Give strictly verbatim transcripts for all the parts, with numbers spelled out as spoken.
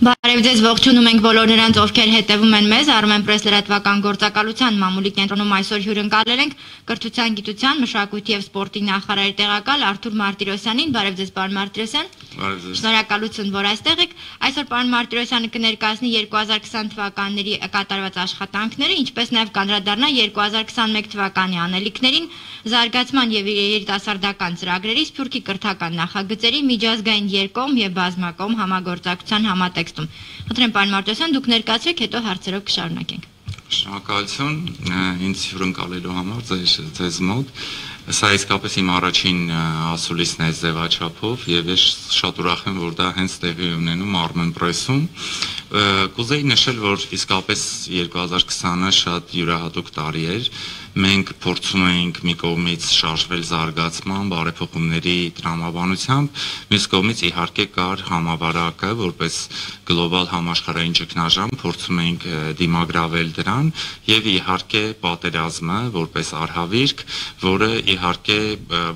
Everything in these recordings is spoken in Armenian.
Բարև ձեզ, ողջունում ենք բոլոր նրանց, ովքեր հետևում են մեզ, Armenpress լրատվական գործակալության մամուլի կենտրոնում այսօր հյուրընկալել ենք կրթության, գիտության, մշակույթի եւ սպորտի նախարարի տեղակալ Արթուր Մարտիրոսյանին։ Բարև ձեզ, պարոն Մարտիրոսյան։ Բարև ձեզ։ Շնորհակալություն, որ այստեղ եք։ Այսօր պարոն Մարտիրոսյանը կներկայացնի երկու հազար քսան թվականների կատարված աշխատանքները, ինչպես նաեւ կանդրադառնա երկու հազար քսանմեկ թվականի անելիքներին, զարգացման եւ երիտասարդական ծրագրերի, Սփյուռքի կրթական նախագծերի, միջազգային երկկողմ եւ բազմակողմ համագործակցության համատեքստում։ Խնդրեմ պարոն Մարտիրոսյան, դուք ներկայացրեք, հետո հարցերով կշարունակենք։ Շնորհակալություն ինձ հյուրընկալելու համար ձեզ ձեզ մոտ։ Սա իսկապես իմ առաջին ասուլիսն է ձևաչափով եւ ես շատ ուրախ եմ, որ դա հենց տեղի ունենում Armenpress-ում։ Կուզեի նշել, որ իսկապես երկու հազար քսանը շատ յուրահատուկ տարի էր։ Մենք փորձում էինք մի կողմից շարժվել զարգացման, բարեփոխումների տրամաբանությամբ, մյուս կողմից իհարկե կար համավարակը, որպես գլոբալ համաշխարհային ճգնաժամ, փորձում էինք դիմագրավել դրան եւ իհարկե պատերազմը, որպես արհավիրք, որը իհարկե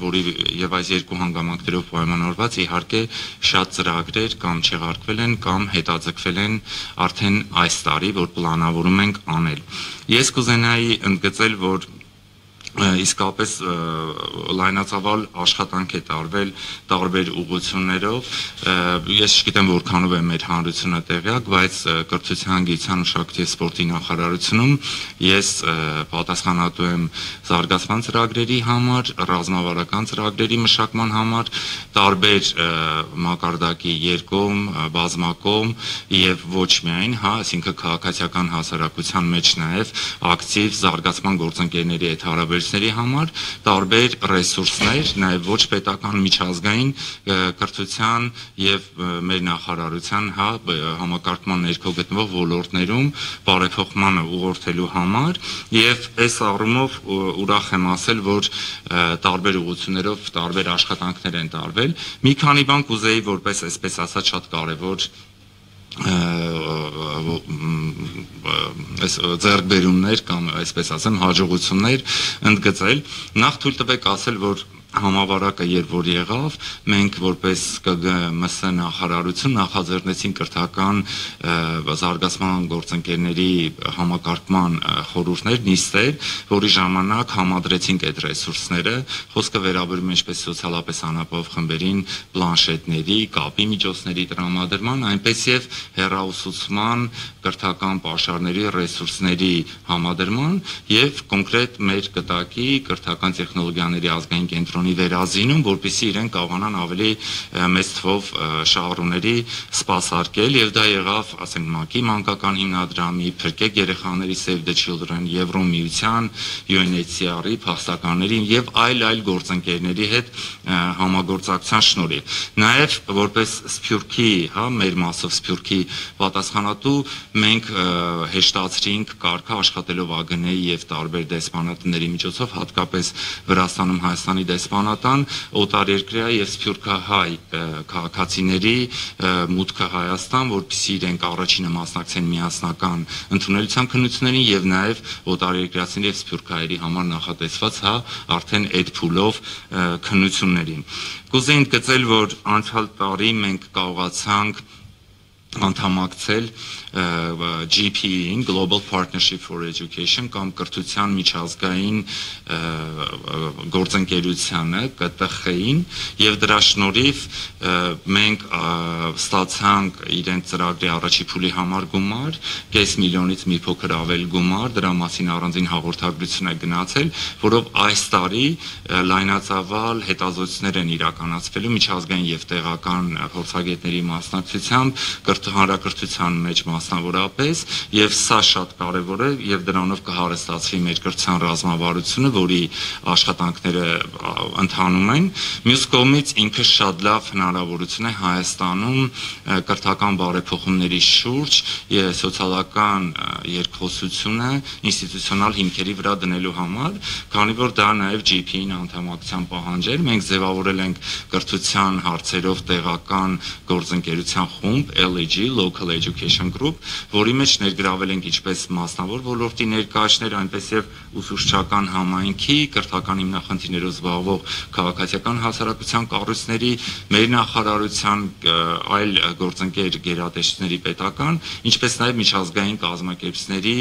որի եւ այս երկու հանգամանքներով պայմանավորված իհարկե շատ ծրագրեր կամ չեղարկվել են կամ հետաձգվել են արդեն այս տարի, որ պլանավորում ենք անել։ Ես կուզենայի ընդգծել, որ իսկապես լայնածավալ աշխատանք է տարվել տարբեր ուղղություններով։ Ես չգիտեմ որքանով է մեր հանրությունը տեղյակ, բայց կրթության, գիտության, մշակույթի եւ սպորտի նախարարությունում ես պատասխանատու եմ զարգացման ծրագրերի համար, ռազմավարական ծրագրերի մշակման համար, տարբեր մակարդակի երկկողմ, բազմակողմ եւ ոչ միայն, հա, այսինքն քաղաքացիական հասարակության մեջ նաեւ ակտիվ զարգացման գործընկերների հետ հարաբերությունների համար տարբեր ռեսուրսներ, նաև ոչ պետական միջազգային կրթության եւ մեր նախարարության հա համակարգման ներքո գտնվող ոլորտներում բարեփոխմանը ուղղորդելու համար եւ այս առումով ուրախ եմ ասել, որ տարբեր ուղղություններով տարբեր աշխատանքներ են տարվել։ Մի քանի բան կուզեի որպես այսպես ասած շատ կարեւոր այս ձեռքբերումներ կամ այսպես ասեմ հաջողություններ ընդգծել։ Նախ թույլ տվեք ասել, որ համավարակը երբ որ եղավ, մենք որպես Կ Գ M S նախարարություն նախաձեռնեցինք կրթական զարգացման գործընկերների համակարգման խորհուրդներ, նիստեր, որի ժամանակ համադրեցինք այդ ռեսուրսները, խոսքը վերաբերում է ինչպես սոցիալապես անապահով խմբերին, պլանշետների, կապի միջոցների տրամադրման, այնպես եւ հեռաուսուցման, կրթական պաշարների ռեսուրսների համադրման եւ կոնկրետ մեր կտակի կրթական տեխնոլոգիաների ազգային կենտրոնի վերազինում, որպեսզի իրենք կարողանան ավելի մեծ թվով շահառուների սպասարկել եւ դա եղավ, ասենք ՄԱԿ-ի մանկական հիմնադրամի, Փրկեք երեխաների Save the Children, Եվրոմիության, U N H C R-ի, փախստականների եւ այլ այլ գործընկերների հետ համագործակցության շնորհիվ։ Նաեւ որպես Սփյուռքի, հա, մեր մասով Սփյուռքի պատասխանատու մենք հեշտացրինք կարգը աշխատելով Ա Գ Ն-ի եւ տարբեր դեսպանատների միջոցով, հատկապես Վրաստանում Հայաստանի դեսպանատան, օտարերկրյա եւ սփյուռքահայ քաղաքացիների մուտքը Հայաստան, որպեսզի իրենք առաջինը մասնակցեն միասնական ընդունելության քննություններին եւ նաեւ օտարերկրացիների եւ սփյուռքահայերի համար նախատեսված հա արդեն այդ փուլով քննություններին։ Կուզեի ընդգծել, որ անցյալ տարի մենք կարողացանք անդամակցել G P E-ին, Global Partnership for Education կամ կրթության միջազգային գործընկերությանը, Կ Տ Խ-ին եւ դրա շնորհիվ մենք ստացանք իրենց ծրագրի առաջի փուլի համար գումար, կես միլիոնից մի փոքր ավել գումար, դրա մասին առանձին հաղորդագրություն է գնացել, որով այս տարի լայնածավալ հետազոտություններ են իրականացվելու միջազգային եւ տեղական փորձագետների մասնակցությամբ հանրակրթության մեջ մասնավորապես եւ սա շատ կարեւոր է եւ դրանով կհարստացվի մեր կրթության ռազմավարությունը, որի աշխատանքները ընթանում են։ Մյուս կողմից ինքը շատ լավ հնարավորություն է Հայաստանում կրթական բարեփոխումների շուրջ եւ սոցիալական երկխոսությունը ինստիտուցիոնալ հիմքերի վրա դնելու համար, քանի որ դա նաեւ G P E-ին անդամակցության պահանջ էր։ Մենք ձևավորել ենք կրթության հարցերով տեղական գործընկերության խումբ L L E G, Local Education Group, որի մեջ ներգրավել ենք ինչպես մասնավոր ոլորտի ներկայացներ, այնպես եւ ուսուցչական համայնքի, կրթական հիմնախնդիրներով զբաղվող քաղաքացիական հասարակության կառույցների, մեր նախարարության այլ գործընկեր գերատեսչությունների պետական, ինչպես նաեւ միջազգային կազմակերպությունների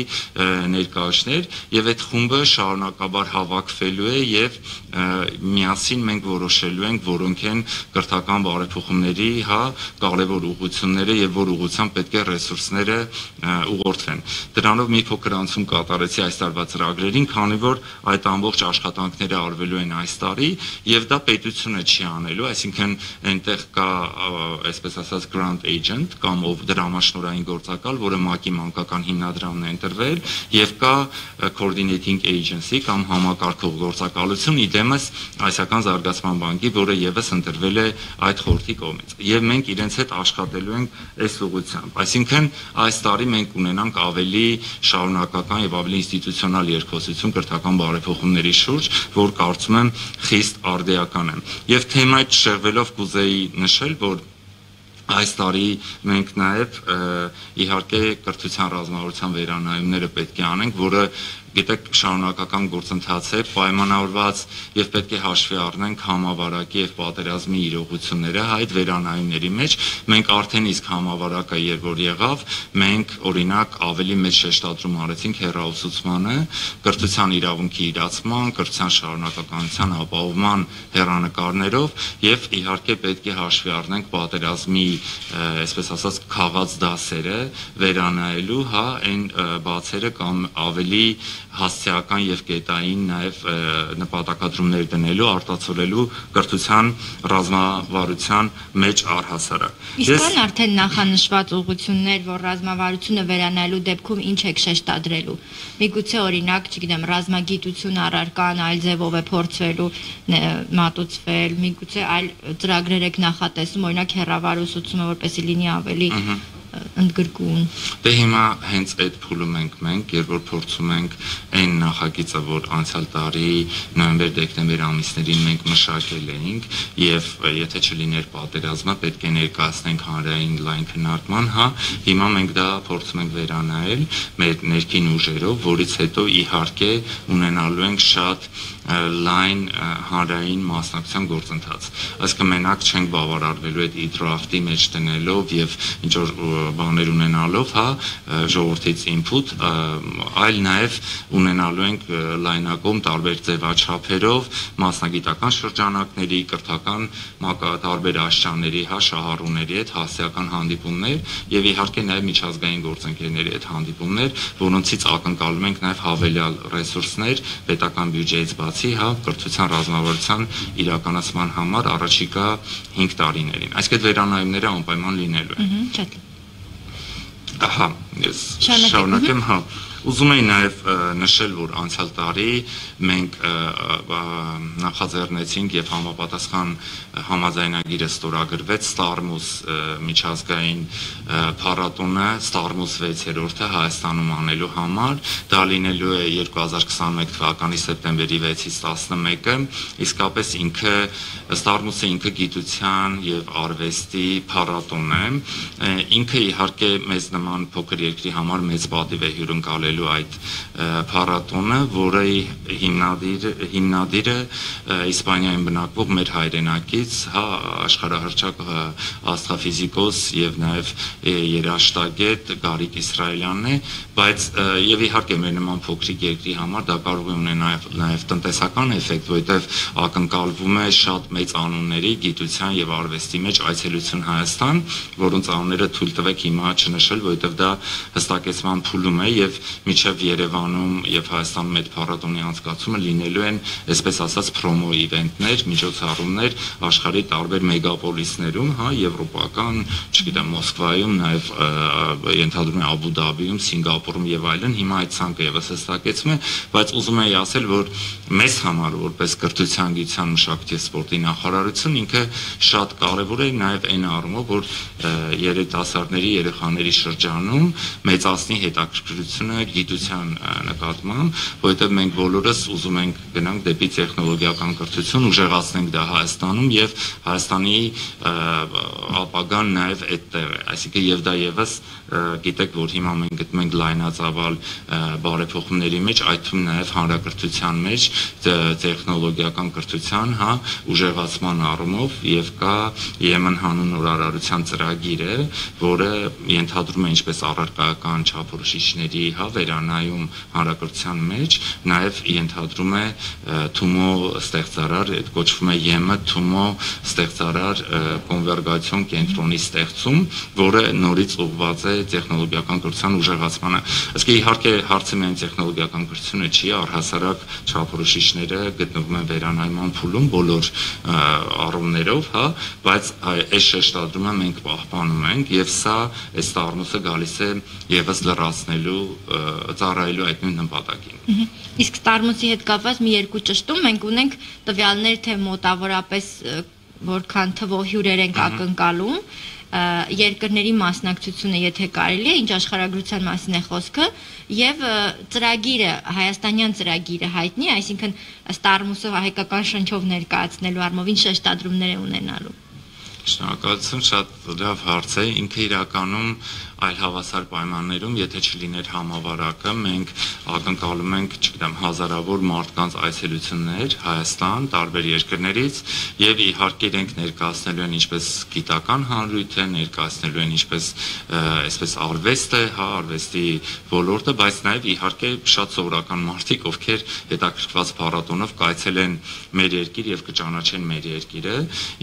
ներկայացներ, եւ այդ խումբը շարունակաբար հավաքվելու է եւ միասին մենք որոշելու ենք, որոնք են կրթական բարեփոխումների, հա, կարևոր ուղղությունները եւ որ ուղղությամբ պետք է ռեսուրսները ուղղորդվեն։ Դրանով մի փոքր անցում կատարեցի այս տարվա ծրագրերին, քանի որ այդ ամբողջ աշխատանքները արվելու են այս տարի եւ դա պետությունը չի անելու, այսինքն այնտեղ կա այսպես ասած grant agent կամ ով դրամաշնորհային գործակալ, որը ՄԱԿ-ի մանկական հիմնադրամն է ընտրվել եւ կա coordinating agency կամ համակարգող գործակալություն իդեմս Ասիական զարգացման բանկի, որը եւս ընտրվել է այդ խորհրդի կողմից։ Եվ մենք իրենց հետ աշխատելու ենք այս ուղղությամբ։ Այսինքն այս տարի մենք ունենանք ավելի շարունակական եւ ավելի ինստիտուցիոնալ երկխոսություն կրթական բարեփոխումների շուրջ, որ կարծում եմ խիստ արդիական է։ Եվ թեմայից շեղվելով կուզեի նշել, որ այս տարի մենք նաև իհարկե կրթության ռազմավարության վերանայումները պետք է անենք, որը գիտեք շարունակական գործընթաց է, պայմանավորված եւ պետք է հաշվի առնենք համավարակի եւ պատերազմի իրողությունները այդ վերանայումների մեջ։ Մենք արդեն իսկ համավարակը երբ որ եղավ, մենք օրինակ ավելի մեծ շեշտադրում արեցինք հեռաուսուցմանը, կրթության իրավունքի իրացման, կրթության շարունակականության ապահովման հեռանկարներով եւ իհարկե պետք է հաշվի առնենք պատերազմի, այսպես ասած, քաղած դասերը վերանայելու, հա, այն բացերը կամ ավելի հասցեական եւ կետային նաեւ նպատակադրումներ դնելու, արտացոլելու կրթության ռազմավարության մեջ առհասարակ։ Իսկ կան արդեն նախանշված ուղղություններ, որ ռազմավարությունը վերանայելու դեպքում ինչ եք շեշտադրելու։ Միգուցե օրինակ, չգիտեմ, ռազմագիտություն առարկան այլ ձևով է փորձվելու մատուցվել, միգուցե այլ ծրագրեր եք նախատեսում, օրինակ հեռավար ուսուցումը, որպեսզի լինի ավելի ընդգրկուն։ Դե հիմա հենց այդ փուլում ենք մենք, երբ որ փորձում ենք այն նախագիծը, որ անցյալ տարի նոյեմբեր-դեկտեմբեր ամիսներին մենք մշակել էինք, եւ եթե չլիներ պատերազմը, պետք է ներկայացնենք հանրային լայն քննարկման, հա, հիմա մենք դա փորձում ենք վերանայել մեր ներքին ուժերով, որից հետո իհարկե ունենալու ենք շատ լայն հանրային մասնակցության գործընթաց։ Այսինքն մենակ չենք բավարարվելու այդ e-draft-ի մեջ դնելով եւ ինչ որ բաներ ունենալով, հա, ժողովրդից input, այլ նաեւ ունենալու ենք լայնակում տարբեր ձևաչափերով մասնագիտական շրջանակների, կրթական տարբեր աշճանների, հա, շահառուների հետ հասարակական հանդիպումներ եւ իհարկե նաեւ միջազգային գործընկերների հետ հանդիպումներ, որոնցից ակնկալում ենք նաեւ հավելյալ ռեսուրսներ պետական բյուջեից բացի, հա, կրթության ռազմավարության իրականացման համար առաջիկա հինգ տարիներին։ Այսինքն վերանայումները անպայման լինելու են։ Ահա, ես շարունակեմ, հա։ Ուզում եի նաև նշել, որ անցյալ տարի մենք նախաձեռնեցինք եւ համապատասխան համաձայնագիրը ստորագրվեց Ստարմուս միջազգային փառատոնը, Ստարմուս վեցերորդը Հայաստանում անելու համար, դա լինելու է երկու հազար քսաներկու թվականի սեպտեմբերի վեցից տասնմեկը, իսկապես ինքը Ստարմուսը ինքը գիտության եւ արվեստի փառատոն է, ինքը իհարկե մեզ նման փոքր երկրի համար մեծ պատիվ է հյուրընկալել այդ փառատոնը, որը հիմնադիր հիմնադիրը Իսպանիայում բնակվող մեր հայրենակից, հա, աշխարհահռչակ աստղաֆիզիկոս եւ նաեւ երաժշտագետ Գարիկ Իսրայելյանն է, բայց եւ իհարկե մեր նման փոքրիկ երկրի համար դա կարող է ունենալ նաեւ տնտեսական էֆեկտ, որովհետեւ ակնկալվում է շատ մեծ անունների գիտության եւ արվեստի մեջ այցելություն Հայաստան, որոնց անունները թույլ տվեք հիմա չնշել, որովհետեւ դա հստակեցման փուլում է եւ միջև Երևանում եւ Հայաստանում այդ փառատոնի անցկացումը լինելու են, այսպես ասած, պրոմո իվենտներ, միջոցառումներ աշխարհի տարբեր մեգապոլիսներում, հա, եվրոպական, չգիտեմ, Մոսկվայում, նաեւ ենթադրում եմ Աբու Դաբիում, Սինգապուրում եւ այլն, հիմա այդ ցանկը եւս հստակեցում է, բայց ուզում եի ասել, որ մեզ համար որպես կրթության, գիտության, մշակույթի, սպորտի նախարարություն ինքը շատ կարեւոր է նաեւ այն առումով, որ երիտասարդների, երեխաների շրջանում մեծացնի հետաքրքրությունը գիտության նկատմամբ, որովհետև մենք բոլորս ուզում ենք գնանք դեպի տեխնոլոգիական կրթություն, ուժեղացնենք դա Հայաստանում եւ Հայաստանի ապագան նաեւ այդտեղ է, այսինքն եւ դա եւս գիտեք, որ հիմա մենք գտնում ենք լայնածավալ բարեփոխումների մեջ, այդ թվում նաեւ հանրակրթության մեջ տեխնոլոգիական կրթության, հա, ուժեղացման առումով եւ կա Եմեն հանուն նորարարության ծրագիր է, որը ենթադրում է ինչպես առարկայական չափորոշիչների, հա, վերանայում հանրակրթության մեջ, նաեւ ենթադրում է Թումո ստեղծարար, այդ կոչվում է ԵՄ Թումո ստեղծարար կոնվերգացիոն կենտրոնի ստեղծում, որը նորից ուղղված է տեխնոլոգիական կրթության ուժեղացմանը։ Իսկ իհարկե հարցը միայն տեխնոլոգիական կրթությունը չի, առհասարակ չափորոշիչները գտնվում են վերանայման փուլում բոլոր առումներով, հա, բայց այս շեշտադրումը մենք պահպանում ենք եւ սա այս տառնուսը գալիս է եւս լրացնելու, ծառայելու այդ նույն նպատակին։ Իսկ տառնուսի հետ կապված մի երկու ճշտում մենք ունենք տվյալներ, թե մոտավորապես որքան թվով հյուրեր ենք ակնկալում, երկրների մասնակցությունը, եթե կարելի է, ինչ աշխարհագրության մասին է խոսքը, եւ ծրագիրը, հայաստանյան ծրագիրը հայտնի, այսինքն Ստարմուսով հայկական շնչով ներկայացնելու առումով ինչ շեշտադրումներ է ունենալու։ Շնորհակալություն, շատ լավ հարց է, ինքը իրականում այլ հավասար պայմաններում, եթե չլիներ համավարակը, մենք ակնկալում ենք, չգիտեմ, հազարավոր մարդկանց այցելություններ Հայաստան, տարբեր երկրներից եւ իհարկե իրենք ներկայացնելու են ինչպես գիտական հանրույթ է, ներկայացնելու են ինչպես այսպես արվեստ է, հա, արվեստի ոլորտը, բայց նաեւ իհարկե շատ սովորական մարդիկ, ովքեր հետաքրքրված փառատոնով կայցել են մեր երկիր եւ կճանաչեն մեր երկիրը,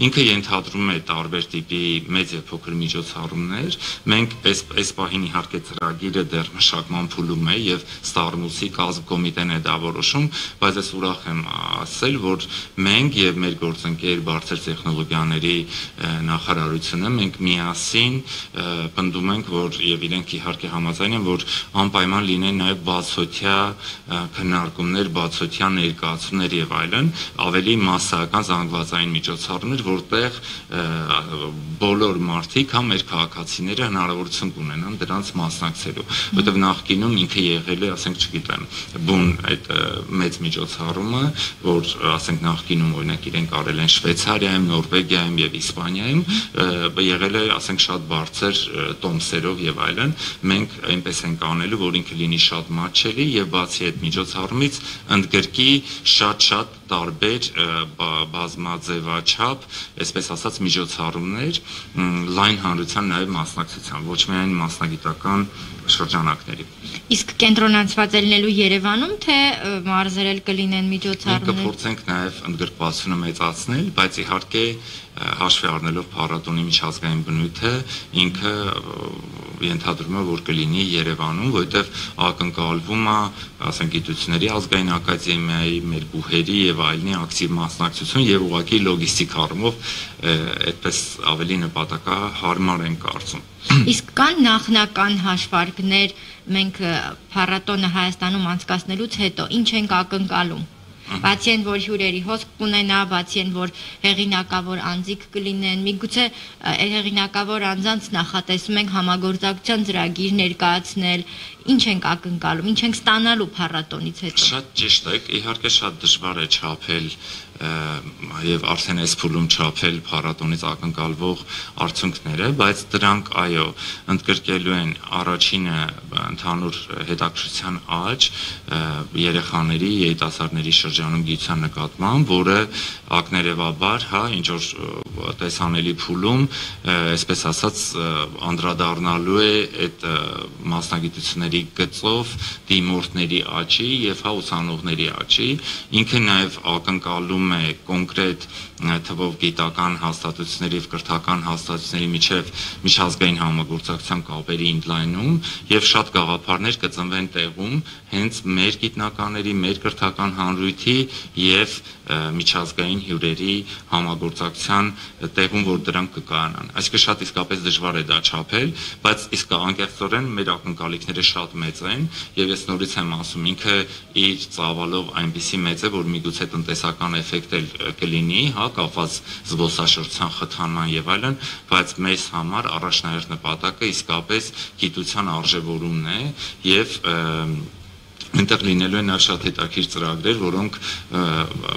ինքը ենթադրում է տարբեր տիպի մեծ եւ փոքր միջոցառումներ, մենք այս այս պահին իհարկե ծրագիրը դեռ մշակման փուլում է եւ Ստարմուսի կազմկոմիտեն է դա որոշում, բայց ես ուրախ եմ ասել, որ մենք եւ մեր գործընկեր բարձր տեխնոլոգիաների նախարարությունը մենք միասին պնդում ենք, որ եւ իրենք իհարկե համաձայն են, որ անպայման լինեն նաեւ բացօթյա քննարկումներ, բացօթյա ներկայացումներ եւ այլն, ավելի մասսայական զանգվածային միջոցառումներ, որտեղ բոլոր մարդիկ, հա, մեր քաղաքացիները հնարավորություն կունենան դրանց մասնակցելու, որովհետև նախկինում ինքը եղել է, ասենք, չգիտեմ, բուն այդ մեծ միջոցառումը, որ ասենք նախկինում օրինակ իրենք արել են Շվեյցարիայում, Նորվեգիայում եւ Իսպանիայում, եղել է, ասենք, շատ բարձր տոմսերով եւ այլն, մենք այնպես ենք անելու, որ ինքը լինի շատ մատչելի եւ բացի այդ միջոցառումից ընդգրկի շատ-շատ տարբեր բազմաձևաչափ, այսպես ասած, միջոցառումներ լայն հանրության նաև մասնակցության, ոչ միայն մասնագիտական շրջանակների։ Իսկ կենտրոնացված ելնելու Երևանում, թե մարզերել կլինեն միջոցառումներ։ Մենք կփորձենք նաև ընդգրկվածությունը մեծացնել, բայց իհարկե հաշվի առնելով փառատոնի միջազգային բնույթը, ինքը ենթադրում է, որ կլինի Երևանում, որովհետև ակնկալվում է, ասենք, գիտությունների ազգային ակադեմիայի, մեր բուհերի եւ այլնի ակտիվ մասնակցություն եւ ուղղակի լոգիստիկ առումով այդպես ավելի նպատակահարմար են կարծում։ Իսկ կան նախնական հաշվարկներ մենք փառատոնը Հայաստանում անցկացնելուց հետո ինչ ենք ակնկալում։ Բացի այն, որ հյուրերի հոսք կունենա, բացի այն, որ հեղինակավոր անձիկ կլինեն, միգուցե հեղինակավոր անձանց նախատեսում ենք համագործակցության ծրագիր ներկայացնել, ինչ ենք ակնկալում, ինչ ենք ստանալու փառատոնից հետո։ Շատ ճիշտ է, իհարկե շատ դժվար է չափել եւ արդեն այս փուլում չափել փառատոնից ակնկալվող արդյունքները, բայց դրանք այո, ընդգրկելու են առաջինը ընդհանուր հետաքրքրության աճ երեխաների, երիտասարդների շրջանում գիտության նկատմամբ, որը ակներևաբար, հա, ինչ որ տեսանելի փուլում, այսպես ասած, անդրադառնալու է այդ մասնագիտությունների գծով դիմորդների աճի եւ հա ուսանողների աճի, ինքը նաեւ ակնկալում է կոնկրետ թվով գիտական հաստատությունների եւ կրթական հաստատությունների միջև միջազգային համագործակցության կապերի ընդլայնում եւ շատ գաղափարներ կծնվեն տեղում հենց մեր գիտնականների, մեր կրթական հանրույթի եւ միջազգային հյուրերի համագործակցության տեղում, որ դրանք կկայանան։ Այսինքն շատ իսկապես դժվար է դա չափել, բայց իսկ անկեղծորեն մեր ակնկալիքները շատ մեծ են եւ ես նորից եմ ասում, ինքը իր ծավալով այնպեսի մեծ է, որ միգուցե տնտեսական էֆեկտ էֆեկտ էլ կլինի, հա, կապված զբոսաշրջության խթանման եւ այլն, բայց մեզ համար առաջնահերթ նպատակը իսկապես գիտության արժևորումն է եւ Այնտեղ լինելու են շատ հետաքրքիր ծրագրեր, որոնք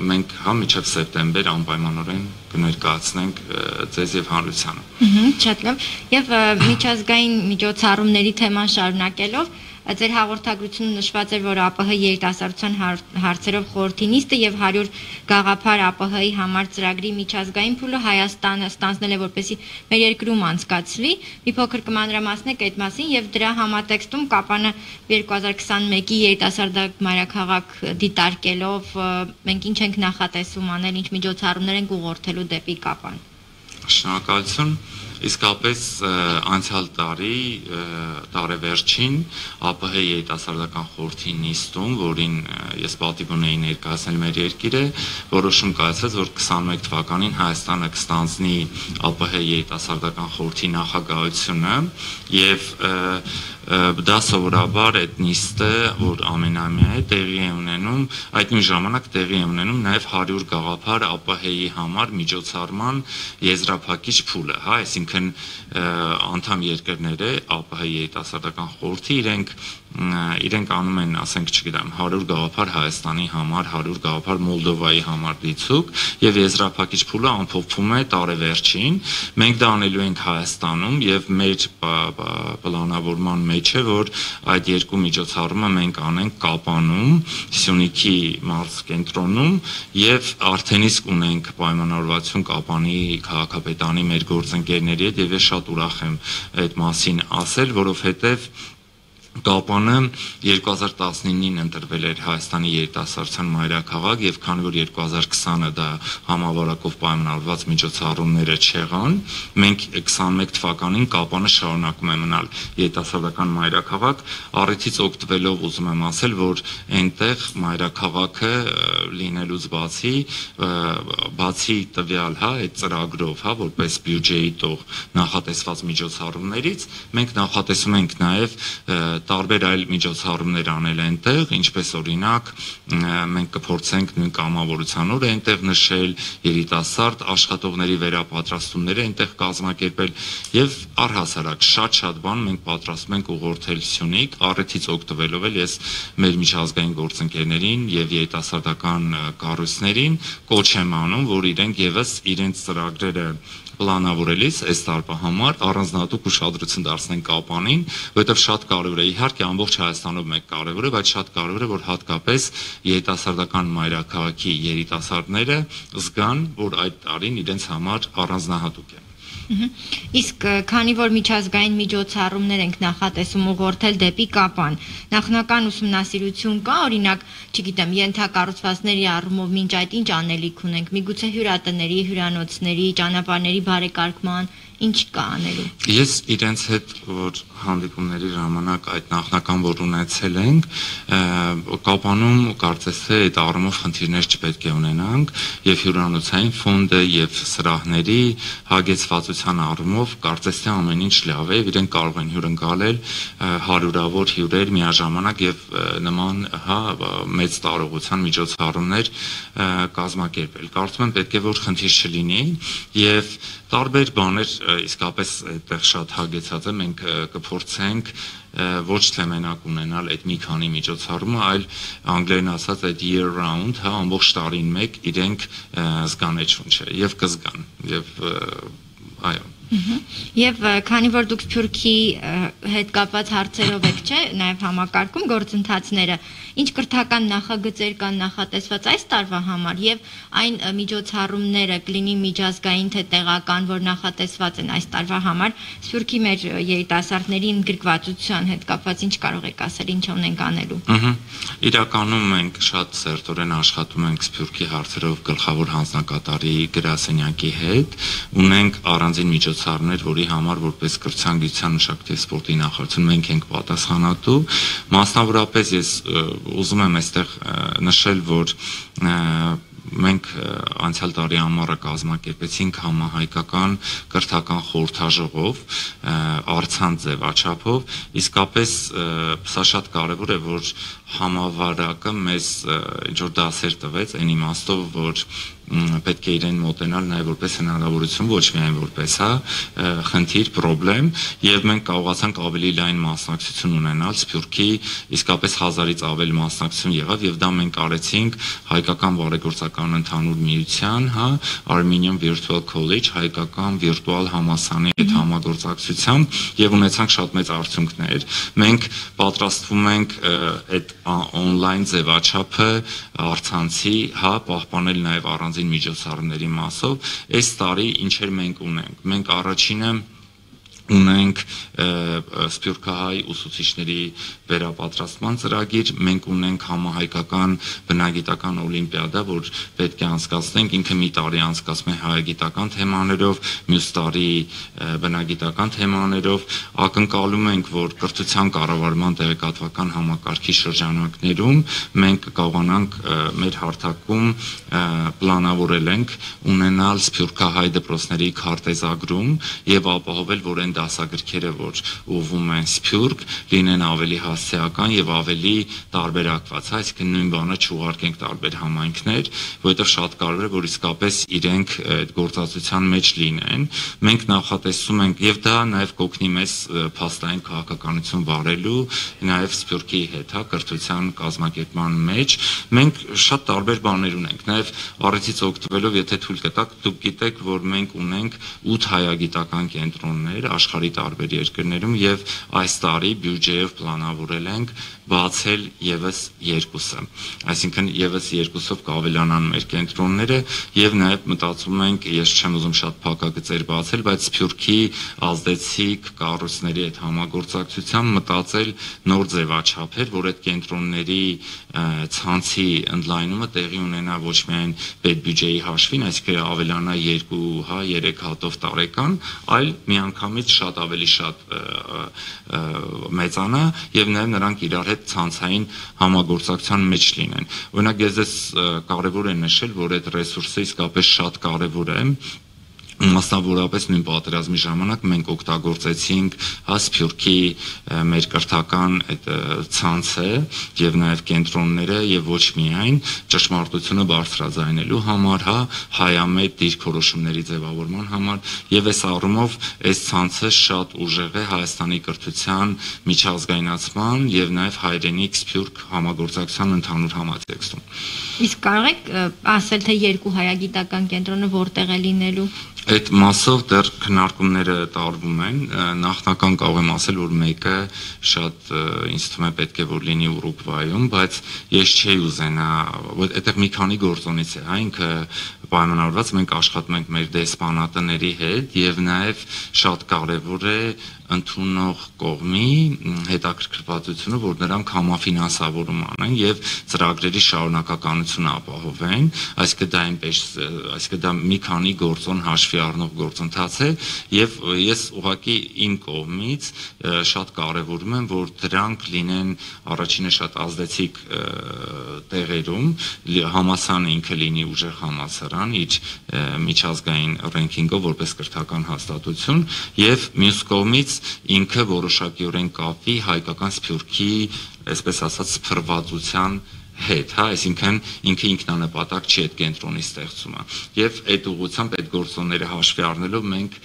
մենք հա մինչև սեպտեմբեր անպայմանորեն կներկայացնենք ձեզ եւ հանրությանը։ Շատ լավ։ Եվ միջազգային միջոցառումների թեման շարունակելով Ձեր հաղորդագրությունում նշված էր, որ ԱՊՀ երիտասարդության հարցերով խորհրդի նիստը եւ հարյուր գաղափար ԱՊՀ-ի համար ծրագրի միջազգային փուլը Հայաստանը ստանձնել է, որպեսզի մեր երկրում անցկացվի։ Մի փոքր կմանրամասնեք այդ մասին եւ դրա համատեքստում Կապանը երկու հազար քսաներկու երիտասարդակ մայրաքաղաք դիտարկելով մենք ինչ ենք նախատեսում անել, ինչ միջոցառումներ ենք ուղղորդելու դեպի Կապան։ Շնորհակալություն։ Իսկապես անցյալ տարի տարեվերջին ԱՊՀ երիտասարդական խորհրդի նիստում, որին ես պատիվ ունեի ներկայացնել մեր երկիրը, որոշում կայացվեց, որ քսաներկու թվականին Հայաստանը կստանձնի ԱՊՀ երիտասարդական խորհրդի նախագահությունը եւ դա սովորաբար այդ նիստը, որ ամենամյա է տեղի է ունենում, այդ նույն ժամանակ տեղի է ունենում նաև հարյուր գաղափար ԱՊՀ-ի համար միջոցառման եզրափակիչ փուլը, հա, այսինքն անդամ երկրները ԱՊՀ երիտասարդական խորհրդի իրենք իրենք անում են, ասենք, չգիտեմ, հարյուր գաղափար Հայաստանի համար, հարյուր գաղափար Մոլդովայի համար դիցուկ եւ եզրափակիչ փուլը ամփոփվում է տարեվերջին։ Մենք դա անելու ենք Հայաստանում եւ մեր պլանավորման մեջ է, որ այդ երկու միջոցառումը մենք անենք Կապանում, Սյունիքի մարզկենտրոնում եւ արդեն իսկ ունենք պայմանավորվածություն Կապանի քաղաքապետարանի մեր գործընկերների հետ եւ ես շատ ուրախ եմ այդ մասին ասել, որովհետեւ Կապանը երկու հազար տասնինին ընտրվել էր Հայաստանի երիտասարդության մայրաքաղաք եւ քանի որ երկու հազար քսանը դա համավարակով պայմանավորված միջոցառումները չեղան, մենք քսաներկու թվականին Կապանը շարունակում է մնալ երիտասարդական մայրաքաղաք, առիթից օգտվելով ուզում եմ ասել, որ այնտեղ մայրաքաղաքը լինելուց բացի, բացի տվյալ, հա, այդ ծրագրով, հա, որպես բյուջեի տող նախատեսված միջոցառումներից, մենք նախատեսում ենք նաեւ տարբեր այլ միջոցառումներ անել այնտեղ, ինչպես օրինակ մենք կփորձենք նույն կամավորության օրը այնտեղ նշել, երիտասարդ աշխատողների վերապատրաստումները այնտեղ կազմակերպել եւ առհասարակ շատ-շատ բան մենք պատրաստում ենք ուղղորդել Սյունիք, առիթից օգտվելով էլ ես մեր միջազգային գործընկերներին եւ երիտասարդական կառույցներին կոչ եմ անում, որ իրենք եւս իրենց ծրագրերը պլանավորելիս այս տարվա համար առանձնահատուկ ուշադրություն դարձնեն Կապանին, որովհետև շատ կարևոր է, իհարկե ամբողջ Հայաստանում մեկ կարևոր է, բայց շատ կարևոր է, որ հատկապես երիտասարդական մայրաքաղաքի երիտասարդները զգան, որ այդ տարին իրենց համար առանձնահատուկ է։ Իսկ քանի որ միջազգային միջոցառումներ ենք նախատեսում ուղղորդել դեպի Կապան, նախնական ուսումնասիրություն կա, օրինակ, չգիտեմ, ենթակառուցվածքների առումով մինչ այդ ինչ անելիք ունենք, միգուցե հյուրատների, հյուրանոցների, ճանապարհների բարեկարգման, ինչ կա անելու։ Ես իրենց հետ որ հանդիպումների ժամանակ այդ նախնական որ ունեցել ենք, Կապանում կարծես թե այդ առումով խնդիրներ չպետք է ունենանք եւ հյուրանոցային ֆոնդը եւ սրահների հագեցվածության առումով կարծես թե ամեն ինչ լավ է, իրենք կարող են հյուրընկալել հարյուրավոր հյուրեր միաժամանակ եւ նման, հա, մեծ տարողության միջոցառումներ կազմակերպել։ Կարծում եմ պետք է որ խնդիր չլինի եւ տարբեր բաներ իսկապես այդտեղ շատ հագեցած է, մենք կփորձենք ոչ թե մենակ ունենալ այդ մի քանի միջոցառումը, այլ անգլերեն ասած այդ year round, հա, ամբողջ տարին մեկ իրենք զգան այդ շունչը եւ կզգան եւ այո։ Եվ քանի որ դուք Սփյուռքի հետ կապված հարցերով եք, չէ, նաև համակարգում գործընթացները, ինչ կրթական նախագծեր կան նախատեսված այս տարվա համար եւ այն միջոցառումները կլինի միջազգային թե տեղական, որ նախատեսված են այս տարվա համար, Սփյուռքի մեր երիտասարդների ընդգրկվածության հետ կապված ինչ կարող եք ասել, ինչ ունենք անելու։ Իրականում մենք շատ սերտորեն աշխատում ենք Սփյուռքի հարցերով գլխավոր հանձնակատարի գրասենյակի հետ, ունենք առանձին միջոցառումներ, որի համար որպես կրթության, գիտության, մշակույթի եւ սպորտի նախարարություն մենք ենք պատասխանատու, մասնավորապես ես ուզում եմ այստեղ նշել, որ մենք անցյալ տարի ամառը կազմակերպեցինք համահայկական կրթական խորհրդաժողով, առցանց ձևաչափով, իսկապես սա շատ կարևոր է, որ համավարակը մեզ ինչ որ դասեր տվեց այն իմաստով, որ պետք է իրեն մոտենալ նաև որպես հնարավորություն, ոչ միայն որպես հա խնդիր, խնդրեմ, եւ մենք կարողացանք ավելի լայն մասնակցություն ունենալ Սփյուռքի, իսկապես հազարից ավել մասնակցություն եղավ եւ դա մենք արեցինք հայկական բարեգործական ընդհանուր միության, հա, Armenian Virtual College, հայկական վիրտուալ համալսարանի հետ համագործակցությամբ եւ ունեցանք շատ մեծ արդյունքներ։ Մենք պատրաստվում ենք այդ on-line ձևաչափը առցանցի, հա, պահպանել նաև առանձին միջոցառումների մասով։ Այս տարի ինչեր մենք ունենք։ Մենք առաջինը ունենք սփյուռքահայ ուսուցիչների վերապատրաստման ծրագիր, մենք ունենք համահայկական բնագիտական օլիմպիադա, որ պետք է անցկացնենք, ինքը մի տարի անցկացվում է հայագիտական թեմաներով, մյուս տարի բնագիտական թեմաներով, ակնկալում ենք, որ կրթության կառավարման տեղեկատվական համակարգի շրջանակներում մենք կարողանանք մեր հարթակում պլանավորել ենք ունենալ սփյուռքահայ դպրոցների քարտեզագրում եւ ապահովել, որ այն դասագրքերը, որ ուղղվում են Սփյուռք, լինեն ավելի հասցեական եւ ավելի տարբերակված, այսինքն նույն բանը չուղարկենք տարբեր համայնքներ, որովհետեւ շատ կարեւոր է, որ իսկապես իրենք այդ գործածության մեջ լինեն։ Մենք նախատեսում ենք եւ դա նաեւ կօգնի մեզ փաստային քաղաքականություն վարելու, նաեւ Սփյուռքի հետ, հա, կրթության կազմակերպման մեջ։ Մենք շատ տարբեր բաներ ունենք, նաեւ առիթից օգտվելով, եթե թույլ կտաք, դուք գիտեք, որ մենք ունենք ութ հայագիտական կենտրոններ աշխարհի տարբեր երկրներում եւ այս տարի բյուջեով պլանավորել ենք բացել եւս երկուսը, այսինքն եւս երկուսով կավելանան մեր կենտրոնները եւ նաեւ մտածում ենք, ես չեմ ուզում շատ փակագծեր բացել, բայց Սփյուռքի ազդեցիկ կառույցների հետ համագործակցությամբ մտածել նոր ձևաչափեր, որ այդ կենտրոնների ցանցի ընդլայնումը տեղի ունենա ոչ միայն պետբյուջեի հաշվին, այսինքն ավելանա երկու, հա, երեք հատով տարեկան, այլ միանգամից շատ ավելի շատ մեծանա եւ նաեւ նրանք իրար հետ ցանցային համագործակցության մեջ լինեն։ Օրինակ ես ես կարեւոր է նշել, որ այդ ռեսուրսը իսկապես շատ կարեւոր է։ Մասնավորապես նույն պատերազմի ժամանակ մենք օգտագործեցինք հա Սփյուռքի մեր կրթական այդ ցանցը եւ նաեւ կենտրոնները եւ ոչ միայն ճշմարտությունը բարձրաձայնելու համար, հա, հայամետ դիրքորոշումների ձևավորման համար եւ այս առումով այս ցանցը շատ ուժեղ է Հայաստանի կրթության միջազգայնացման եւ նաեւ հայրենիք Սփյուռք համագործակցության ընդհանուր համատեքստում։ Իսկ կարող եք ասել, թե երկու հայագիտական կենտրոնը որտեղ է լինելու։ Այդ մասով դեռ քննարկումները տարվում են, նախնական կարող եմ ասել, որ մեկը շատ ինձ թվում է պետք է որ լինի Ուրուգվայում, բայց ես չէի ուզենա, այդտեղ մի քանի գործոնից է, հա, ինքը պայմանավորված, մենք աշխատում ենք մեր դեսպանատների հետ եւ նաեւ շատ կարեւոր է ընդունող կողմի հետաքրքրվածությունը, որ նրանք համաֆինանսավորում անեն եւ ծրագրերի շարունակականությունը ապահովեն, այսինքն դա այնպես, այսինքն դա մի քանի գործոն հաշվի առնող գործընթաց է եւ ես ուղղակի իմ կողմից շատ կարեւորում եմ, որ դրանք լինեն առաջինը շատ ազդեցիկ տեղերում, համալսարանը ինքը լինի ուժեղ համալսարան իր միջազգային ռենքինգով որպես կրթական հաստատություն եւ մյուս կողմից ինքը որոշակիորեն կապվի հայկական Սփյուռքի, այսպես ասած, սփռվածության հետ, հա, այսինքն ինքը ինքնանպատակ չի այդ կենտրոնի ստեղծումը։ Եվ այդ ուղղությամբ այդ գործոնները հաշվի առնելով մենք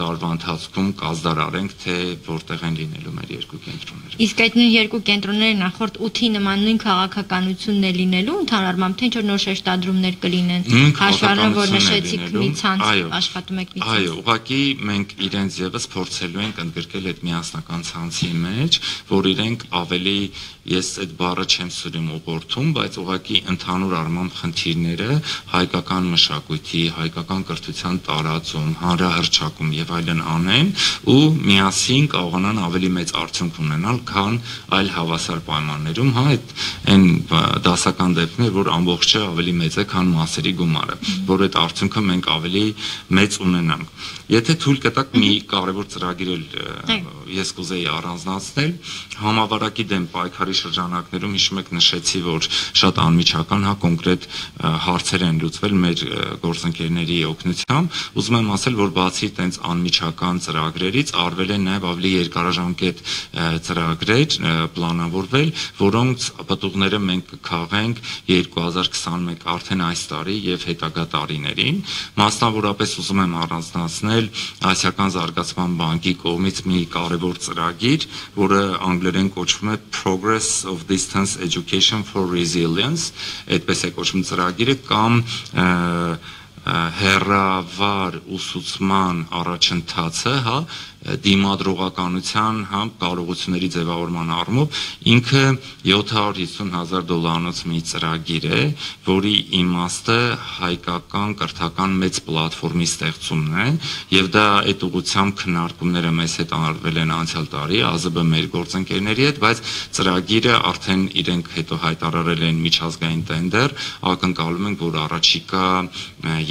տարվա ընթացքում կազդարարենք, թե որտեղ են լինելու մեր երկու կենտրոնները։ Իսկ այդ նույն երկու կենտրոնները նախորդ ութի նման նույն քաղաքականությունն է լինելու, ընդհանրապես թե ինչ որ նոր շեշտադրումներ կլինեն։ Հաշվի առնելով, որ նշեցիք մի ցանց աշխատում եք մի ցանց։ Այո, ուղղակի մենք իրենց եւս փորձելու ենք ընդգրկել այդ միասնական ցանցի մեջ, որ իրենք ավելի, ես այդ բառը չեմ սիրում ուղղորդում, բայց ուղղակի ընդհանուր առմամբ խնդիրները հայկական մշակույթի, հայկական կրթության տարածում, հանրահռչակում եւ այլն անեն ու միասին կարողանան ավելի մեծ արդյունք ունենալ, քան այլ հավասար պայմաններում, հա, այդ այն դասական դեպքն է, որ ամբողջը ավելի մեծ է, քան մասերի գումարը, որ այդ արդյունքը մենք ավելի մեծ ունենանք։ Եթե թույլ կտաք մի կարևոր ծրագիր էլ ես կուզեի առանձնացնել, համավարակի դեմ պայքարի շրջանակներում հիշում եք նշեցի, որ որ շատ անմիջական, հա, կոնկրետ հարցեր են լուծվել մեր գործընկերների օգնությամբ։ Ուզում եմ ասել, որ բացի տենց անմիջական ծրագրերից արվել են նաև ավելի երկարաժամկետ ծրագրեր պլանավորվել, որոնց պտուղները մենք կքաղենք երկու հազար քսանմեկ արդեն այս տարի եւ հետագա տարիներին։ Մասնավորապես ուզում եմ առանձնացնել Ասիական զարգացման բանկի կողմից մի կարևոր ծրագիր, որը անգլերեն կոչվում է Progress of Distance Education for Resilience, այդպես է կոչվում ծրագիրը, կամ հեռավար ուսուցման առաջընթացը, հա, դիմադրողականության, հա, կարողությունների ձևավորման առումով ինքը յոթ հարյուր հիսուն հազար դոլարանոց մի ծրագիր է, որի իմաստը հայկական կրթական մեծ պլատֆորմի ստեղծումն է, եւ դա այդ ուղղությամբ քննարկումները մեզ հետ արվել են անցյալ տարի ԱԶԲ մեր գործընկերների հետ, բայց ծրագիրը արդեն իրենք հետո հայտարարել են միջազգային տենդեր, ակնկալում ենք, որ առաջիկա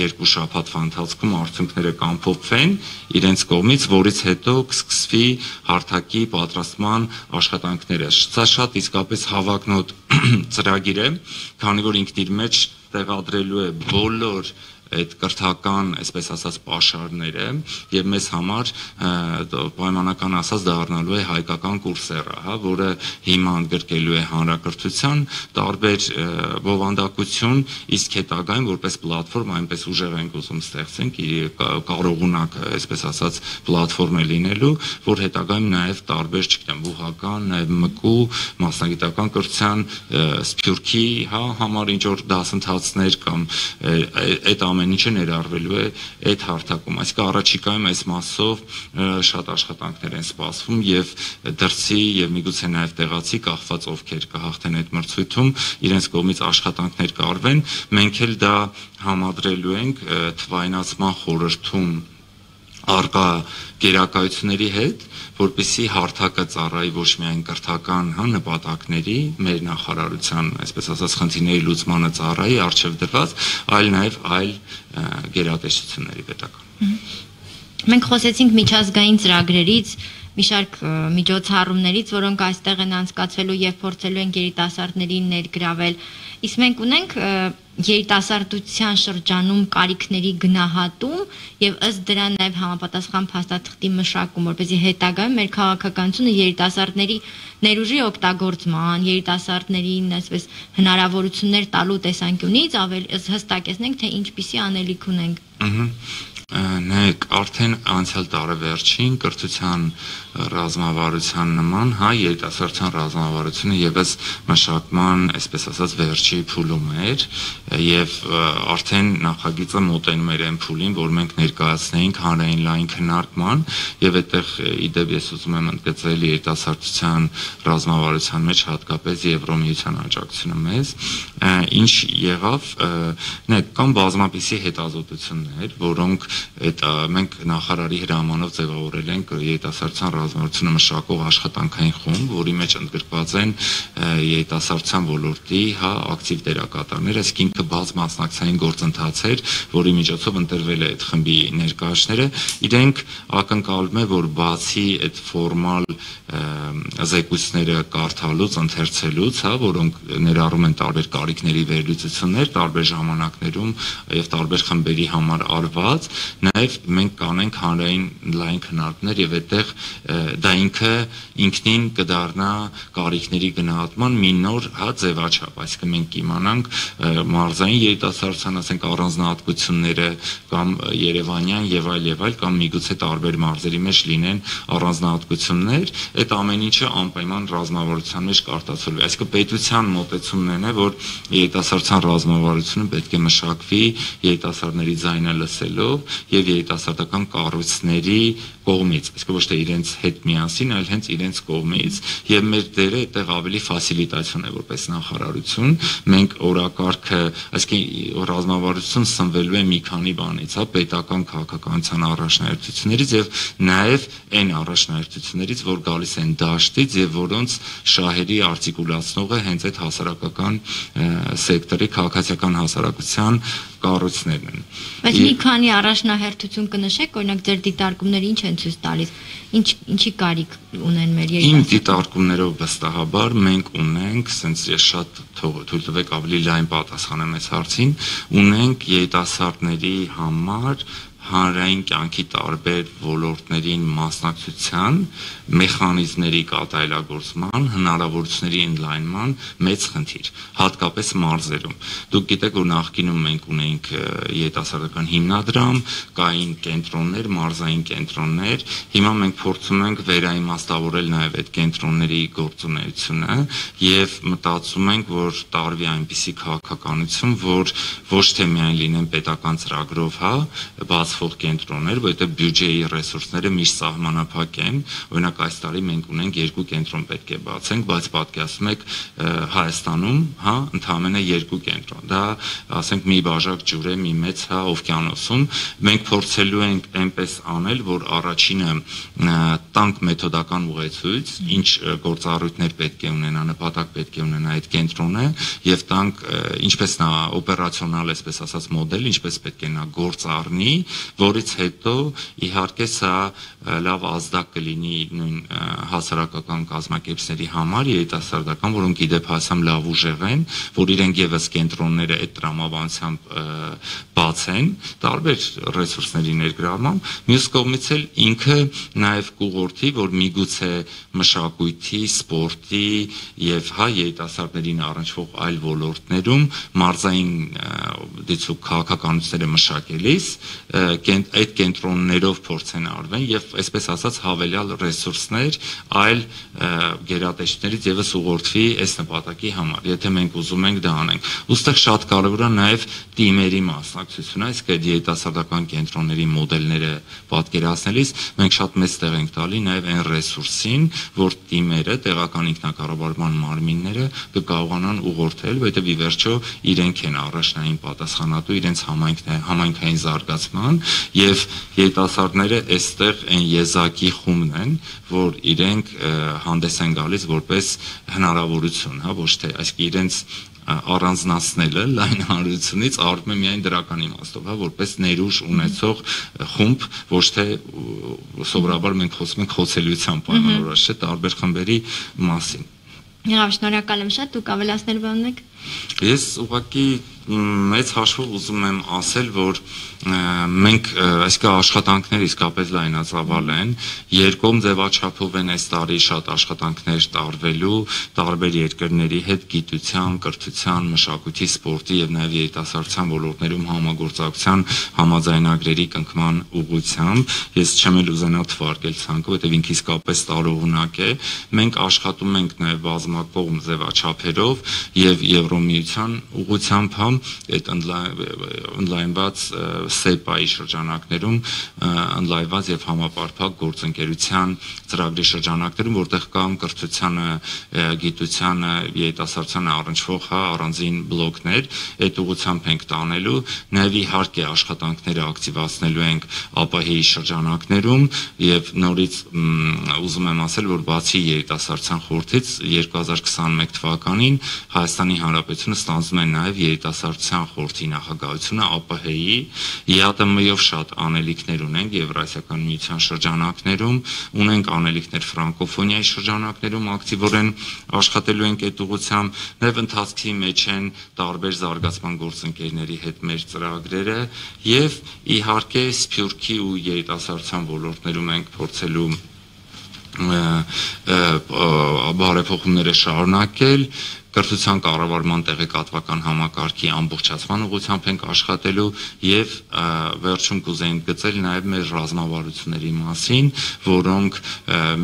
երկու շաբաթվա ընթացքում արդյունքները կամփոփվեն իրենց կողմից, որից հետո կսկսվի հարթակի պատրաստման աշխատանքները։ Սա շատ իսկապես հավակնոտ ծրագիր է, քանի որ ինքն իր մեջ տեղադրելու է բոլոր այդ կրթական, այսպես ասած, պաշարները եւ մեզ համար պայմանական ասած դառնալու է հայկական կուրսերը, հա, որը հիմա ընդգրկելու է հանրակրթության տարբեր բովանդակություն, իսկ հետագայում որպես պլատֆորմ այնպես ուժեղ ենք ուզում ստեղծենք, կարողունակ, այսպես ասած, պլատֆորմ է լինելու, որ հետագայում նաեւ տարբեր, չգիտեմ, բուհական, նաեւ մկու, մասնագիտական կրթության, սփյուռքի, հա, համար ինչ որ դասընթացներ կամ այդ ամեն ինչը ներառվելու է այդ հարթակում, այսինքն առաջիկայում այս մասով շատ աշխատանքներ են սպասվում եւ դրսի եւ միգուցե նաեւ տեղացի կախված ովքեր կհաղթեն այդ մրցույթում իրենց կողմից աշխատանքներ կարվեն, մենք էլ դա համադրելու ենք թվայնացման խորհրդում արկա գերակայությունների հետ, որպեսզի հարթակը ծառայի ոչ միայն կրթական, հա, նպատակների, մեր նախարարության, այսպես ասած, խնդիրների լուծմանը ծառայի արժև դրված, այլ նաև այլ գերատեսչությունների պետական։ Մենք խոսեցինք միջազգային ծրագրերից, մի շարք միջոցառումներից, որոնք այստեղ են անցկացվելու եւ փորձելու են երիտասարդներին ներգրավել։ Իսկ մենք ունենք երիտասարդության շրջանում կարիքների գնահատում եւ ըստ դրա նաեւ համապատասխան փաստաթղթի մշակում, որպեսզի հետագայում մեր քաղաքականությունը երիտասարդների ներուժի օգտագործման, երիտասարդներին այսպես հնարավորություններ տալու տեսանկյունից ավելի հստակեցնենք, թե ինչպիսի անելիք ունենք։ Նայեք, արդեն անցյալ տարեվերջին կրթության ռազմավարության նման, հա, երիտասարդության ռազմավարությունը եւս մշակման, այսպես ասած, վերջի փուլում էր եւ արդեն նախագիծը մոտենում էր այն փուլին, որ մենք ներկայացնեինք հանրային լայն քննարկման եւ այդտեղ իդեպ ես ուզում եմ ընդգծել երիտասարդության ռազմավարության մեջ հատկապես Եվրոմիության աջակցությունը մեզ, ինչ եղավ, նայեք, կան բազմապիսի հետազոտություններ, որոնք այդ մենք նախարարի հրամանով ձևավորել ենք երիտասարդության ռազմավարությունը մշակող աշխատանքային խումբ, որի մեջ ընդգրկված են երիտասարդության ոլորտի, հա, ակտիվ դերակատարներ, այսինքն ինքը բաց մասնակցային գործընթաց էր, որի միջոցով ընտրվել է այդ խմբի ներկայացները, իրենք ակնկալում է, որ բացի այդ ֆորմալ զեկույցները կարդալուց, ընթերցելուց, հա, որոնք ներառում են տարբեր կարիքների վերլուծություններ, տարբեր ժամանակներում եւ տարբեր խմբերի համար արված, նաեւ մենք կանենք հանրային լայն քննարկումներ եւ այդտեղ դա ինքը ինքնին կդառնա կարիքների գնահատման մի նոր, հա, ձևաչափ, այսինքն մենք կիմանանք մարզային երիտասարդության, ասենք, առանձնահատկությունները կամ երևանյան եւ այլ եւ այլ կամ միգուցե տարբեր մարզերի մեջ լինեն առանձնահատկություններ, այդ ամեն ինչը անպայման ռազմավարության մեջ կարտացվելու է, այսինքն պետության մոտեցումն է, որ երիտասարդության ռազմավարությունը պետք է մշակվի երիտասարդների ձայնը լսելով եւ երիտասարդական կառույցների կողմից, այսինքն ոչ թե իրենց հետ միասին, այլ հենց իրենց կողմից, եւ մեր դերը այդտեղ ավելի ֆասիլիտացիոն է որպես նախարարություն, մենք օրակարգը, այսինքն ռազմավարություն սնվելու է մի քանի բանից, հա, պետական քաղաքականության առաջնահերթություններից եւ նաեւ այն առաջնահերթություններից, որ գալիս են դաշտից եւ որոնց շահերի արտիկուլացնողը հենց այդ հասարակական սեկտորի քաղաքացիական հասարակության կառույցներն են։ Բայց մի քանի առաջնահերթություն կնշեք, օրինակ ձեր դիտարկումները ինչ են ցույց տալիս, ինչ ինչի կարիք ունեն մեր երիտասարդները։ Իմ դիտարկումներով վստահաբար մենք ունենք, ասենց ես շատ թույլ տվեք ավելի լայն պատասխանեմ այս հարցին, ունենք երիտասարդների համար հանրային կյանքի տարբեր ոլորտներին մասնակցության մեխանիզմների կատարելագործման, հնարավորությունների ընդլայնման մեծ խնդիր, հատկապես մարզերում։ Դուք գիտեք, որ նախկինում մենք ունեինք երիտասարդական հիմնադրամ, կային կենտրոններ, մարզային կենտրոններ, հիմա մենք փորձում ենք վերաիմաստավորել նաև այդ կենտրոնների գործունեությունը եւ մտածում ենք, որ տարվի այնպիսի քաղաքականություն, որ ոչ թե միայն լինեն պետական ծրագրով, հա, բացվող կենտրոններ, որտեղ բյուջեի ռեսուրսները միշտ սահմանափակ են, օրինակ այս տարի մենք ունենք երկու կենտրոն պետք է բացենք, բայց պատկերացնում եք Հայաստանում, հա, ընդամենը երկու կենտրոն։ Դա, ասենք, մի բաժակ ջուր է, մի մեծ, հա, օվկիանոսում։ Մենք փորձելու ենք այնպես անել, որ առաջինը տանկ մեթոդական ուղեցույց, ինչ գործառույթներ պետք է ունենա, նպատակ պետք է ունենա այդ կենտրոնը, եւ տանկ ինչպես նա օպերացիոնալ, այսպես ասած, մոդել, ինչպես պետք է նա գործ առնի, որից հետո իհարկե սա լավ ազդակ կլինի նույն հասարակական կազմակերպությունների համար, երիտասարդական, որոնք իդեպ հասամ լավ ուժեղ են, որ իրենք եւս կենտրոնները այդ տրամաբանությամբ բացեն, տարբեր ռեսուրսների ներգրավմամբ, մյուս կողմից էլ ինքը նաեւ կուղորդի, որ միգուցե մշակույթի, սպորտի եւ հա երիտասարդներին առնչվող այլ ոլորտներում մարզային դիցուկ քաղաքականությունները մշակելիս այդ կենտրոններով փորձեն արվեն եւ այսպես ասած հավելյալ ռեսուրսներ այլ գերատեսչություններից եւս ուղղորդվի այս նպատակի համար, եթե մենք ուզում ենք դա անենք։ Ոստեղ շատ կարեւոր է նաեւ թիմերի մասնակցությունը, այսինքն երիտասարդական կենտրոնների մոդելները պատկերացնելիս մենք շատ մեծ տեղ ենք տալի նաեւ այն ռեսուրսին, որ թիմերը, տեղական ինքնակառավարման մարմինները կկարողանան ուղղորդել, որովհետեւ ի վերջո իրենք են առաջնային պատասխանատու իրենց համայնքային զարգացման եւ երիտասարդները այստեղ այն եզակի խումբն են, որ իրենք հանդես են գալիս որպես հնարավորություն, հա, ոչ թե այսինքն իրենց առանձնացնելը լայն հանրությունից արվում է միայն դրական իմաստով, հա, որպես ներուժ ունեցող խումբ, ոչ թե սովորաբար մենք խոսում ենք խոցելիության պայմանավորված, չէ, տարբեր խմբերի մասին։ Եղավ, շնորհակալ եմ շատ, դուք ավելացնել բան ունեք։ Ես ուղղակի մեծ հաշվով ուզում եմ ասել, որ մենք այսքան աշխատանքներ իսկապես լայնածավալ են, երկում ձևաչափով են այս տարի շատ աշխատանքներ տարվելու տարբեր երկրների հետ գիտության, կրթության, մշակույթի, սպորտի եւ նաեւ երիտասարդության ոլորտներում համագործակցության համաձայնագրերի կնքման ուղղությամբ։ Ես չեմ էլ ուզենա թվարկել ցանկը, որովհետեւ ինքը իսկապես տարողունակ է։ Մենք աշխատում ենք նաեւ բազմակողմ ձևաչափերով եւ Եվրոմիության ուղղությամբ համ այդ ընդլայնված սեպայի շրջանակներում ընդլայնված եւ համապարփակ գործընկերության ծրագրի շրջանակներում, որտեղ կամ կրթությանը, գիտությանը, երիտասարդությանը առնչվող հա առանձին բլոկներ, այդ ուղղությամբ ենք տանելու, նաեւ իհարկե աշխատանքները ակտիվացնելու ենք ԱՊՀ-ի շրջանակներում եւ նորից ուզում եմ ասել, որ բացի երիտասարդության խորհրդից երկու հազար քսաներկու թվականին Հայաստանի Հանրապետությունը ստանձնում է նաեւ երիտասարդության խորհրդի նախագահությունը ԱՊՀ-ի, ԵԱՏՄ-ով շատ անելիքներ ունենք Եվրասիական միության շրջանակներում, ունենք անելիքներ ֆրանկոֆոնիայի շրջանակներում ակտիվորեն աշխատելու ենք այդ ուղղությամբ, նաև ընթացքի մեջ են տարբեր զարգացման գործընկերների հետ մեր ծրագրերը եւ իհարկե Սփյուռքի ու երիտասարդության ոլորտներում ենք փորձելու բարեփոխումները շարունակել, կրթության կառավարման տեղեկատվական համակարգի ամբողջացման ուղղությամբ ենք աշխատելու եւ վերջում կուզենք գծել նաեւ մեր ռազմավարությունների մասին, որոնք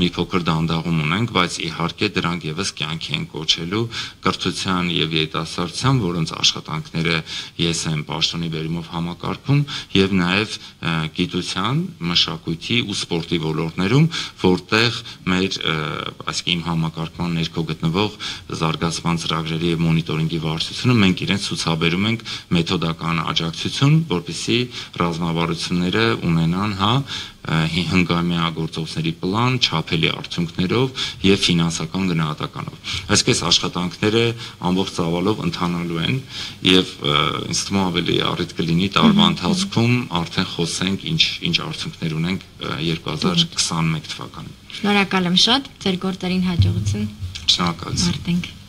մի փոքր դանդաղում ունենք, բայց իհարկե դրանք եւս կյանքի են կոչելու կրթության եւ երիտասարդության, որոնց աշխատանքները ես եմ պաշտոնի բերումով համակարգում եւ նաեւ գիտության, մշակույթի ու սպորտի ոլորտներում, որտեղ մեր այսինքն իմ համակարգման ներքո գտնվող զարգացման ծրագրերի եւ մոնիտորինգի վարչությունը մենք իրենց ցուցաբերում ենք մեթոդական աջակցություն, որպեսզի ռազմավարությունները ունենան, հա, հնգամյա գործողությունների պլան, չափելի արդյունքներով եւ ֆինանսական գնահատականով։ Այսպես աշխատանքները ամբողջ ծավալով ընթանալու են եւ ինձ թվում է ավելի առիթ կլինի տարվա ընթացքում արդեն խոսենք ինչ ինչ արդյունքներ ունենք երկու հազար քսաներկու թվականին։ Շնորհակալ եմ շատ, ձեր գործերին հաջողություն։ Շնորհակալություն։